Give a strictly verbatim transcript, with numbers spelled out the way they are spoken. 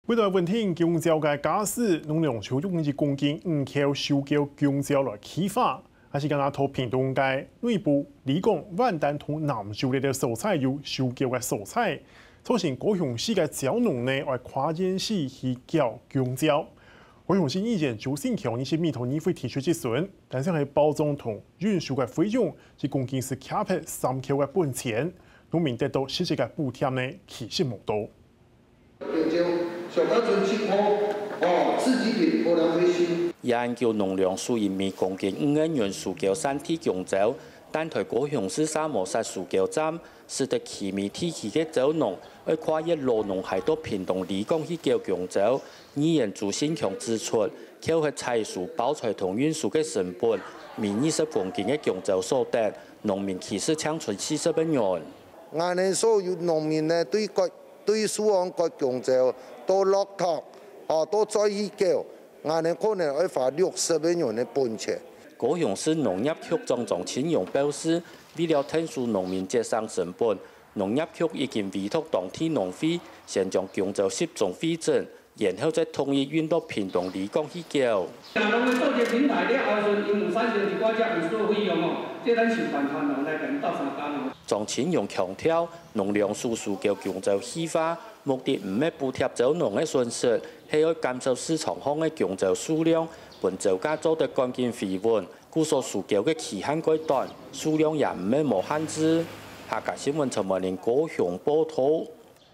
為了穩定弓蕉个價數，農糧署用一公斤五箍收購弓蕉來計價，還係敢若在屏東个內埔、里港、萬丹同南州這兜所在有收購个所在，造成高雄市个蕉農呢，愛跨縣市去繳弓蕉。高雄市議員周新強日前面對議會提出質詢，但是係包裝同運輸个費用，一公斤係卡忒三箍个本錢，農民得到實際个補貼呢，其實無多。 小家純七箍，哦，自己品，無浪費心。一九農糧署因為公斤五個銀收購產地弓蕉，但在高雄市沙摩沙收購站，使得旗美地區个蕉農愛跨越羅東溪到屏東里港去繳弓蕉。議員周新強指出，扣忒採收、包材同運輸个成本，每二十公斤个弓蕉所得，農民其實淨賺四十個銀。 𠊎等所有農民呢，對割，對樹項割弓蕉，到落垤，哦，到再去繳，𠊎等可能愛花六十個銀个本錢。高雄市農業局長張清榮表示，為了𢯭手農民節省成本，農業局已經委託當地農會先將弓蕉集中彙整， 然後再統一運到屏東里港去繳。若農會做一個平台了後，𠊎等有產生一寡這運輸費用哦，這咱想辦法來共𪜶鬥相共哦。張清榮強調，農糧署收購弓蕉計畫，目的毋係補貼蕉農个損失，係愛減少市場項个弓蕉數量，分蕉價做得趕緊回穩。故所收購个期限較短，數量也毋係無限制。客家新聞陳文玲高雄報導。